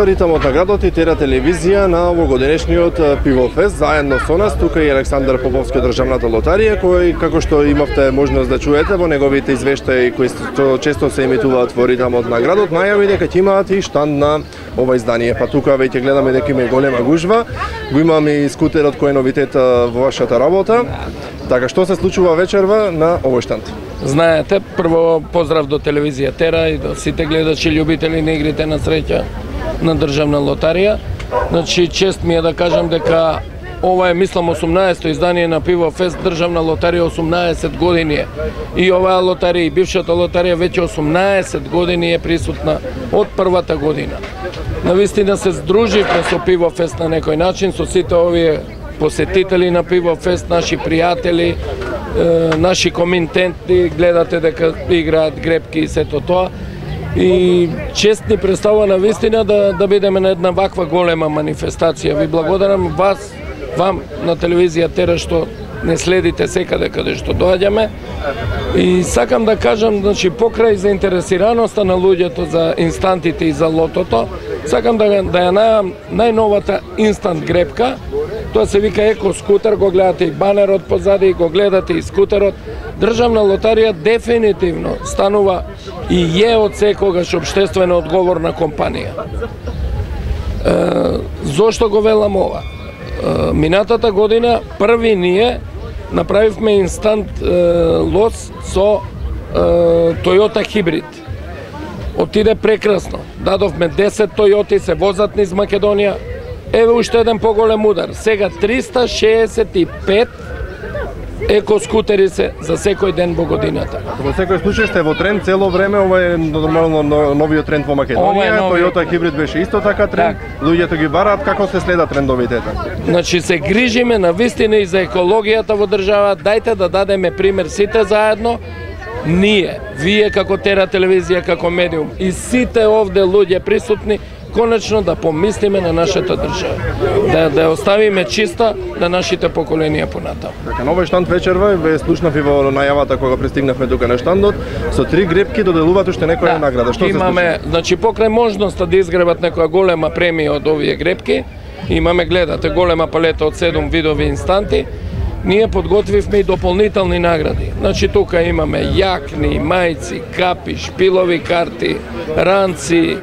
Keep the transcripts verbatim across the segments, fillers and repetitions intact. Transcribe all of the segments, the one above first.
Ритамот на градот и Тера телевизија на овогодинешниот пивофест. Заедно со нас тука и Александар Поповски од државната лотарија, кој, како што имавте можност да чуете во неговите извештаи кои често се емитуваат во Ритамот на градот, најави дека ќе имаат и штанд на ова издание. Па тука веќе гледаме дека има голема гужва. Го имаме и скутерот кој е новитет во вашата работа. Така, што се случува вечерва на овој штанд? Знаете, прво поздрав до телевизија Тера и до сите гледачи љубители на игрите на среќа на државна лотарија. Значи, чест ми е да кажам дека ова е, мислам, осумнаесето издание на Пивофест. Државна лотарија осумнаесет години е. И оваа лотарија и бившата лотарија веќе осумнаесет години е присутна од првата година. Навистина се здруживме со Пивофест на некој начин, со сите овие посетители на Пивофест, наши пријатели, е, наши комитенти, гледате дека играат грепки и сето тоа. И чест ни представува на вистина да, да бидеме на една ваква голема манифестација. Ви благодарам вас, вам на телевизија Тера што не следите секаде каде што доаѓаме. И сакам да кажам, значи, покрај заинтересираноста на луѓето за инстантите и за лотото, сакам да, да ја најавам најновата инстант грепка. Тоа се вика Еко скутер, го гледате и банерот позади, го гледате и скутерот. Државна лотарија дефинитивно станува и е од секогаш општествено одговорна компанија. Е, зошто го велам ова? Е, минатата година први ние направивме инстант е, лос со е, Toyota Hybrid. Отиде прекрасно. Дадовме десет Toyota, се возат низ Македонија. Еве уште еден поголем удар. Сега триста шеесет и пет еко скутери се за секој ден во годината. Во секој случај сте во тренд цело време, ова е нормално новиот тренд во Македонија, нови... Toyota Hybrid беше исто така тренд, так. Луѓето ги бараат, како се следат трендовите? Значи се грижиме на вистина и за екологијата во држава, дајте да дадеме пример сите заедно, ние, вие како Тера телевизија, како медиум и сите овде луѓе присутни, конечно да помислиме на нашата држава, да да оставиме чиста на нашите поколенија понатаму. Така, на овој штанд вечерва ве слушнав и во најавата кога пристигнавме тука на штандот, со три грепки доделуваат уште некоја да, награда. Што имаме, се случи? Значи покрај можноста да изгребат некоја голема премија од овие грепки, имаме, гледате, голема палета од седум видови инстанти. Ние подготвивме и дополнителни награди. Значи тука имаме јакни, мајци, капи, шпилови карти, ранци.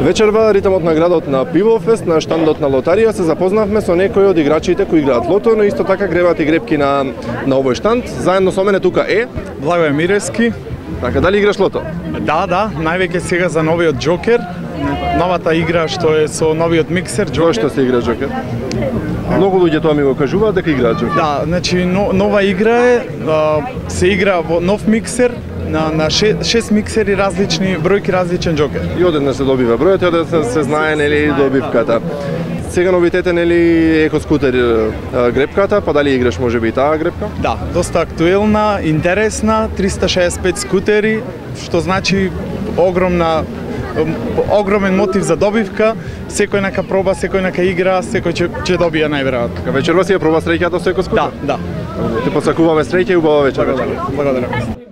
Вечерва Ритамот на градот на Пивофест, на штандот на лотарија, се запознавме со некои од играчите кои играат лото, но исто така гребаат и грепки на, на овој штанд. Заедно со мене тука е Благој Мирески. Така, дали играш лото? Да, да, највеќе сега за новиот Џокер, новата игра што е со новиот миксер Џокер. Зошто се игра Џокер? Многу луѓе тоа ми го кажуваат дека играат Џокер. Да, значи но, нова игра е, а, се игра во нов миксер, на, на шест миксери различни, бројки различен Џокер. И одеднаш се добива бројот, и одеднаш се знае нели добивката. Сега новитете нели еко скутер грепката, па дали играш можеби и таа грепка? Да, доста актуелна, интересна, триста шеесет и пет скутери, што значи огромна огромен мотив за добивка, секој нека проба, секој нека игра, секој ќе ќе добие најверојатно. Така вечерва си ја проба среќата со еко скутер? Да, да. Те посакуваме среќа и убава вечер. Благодарам. Благодарам.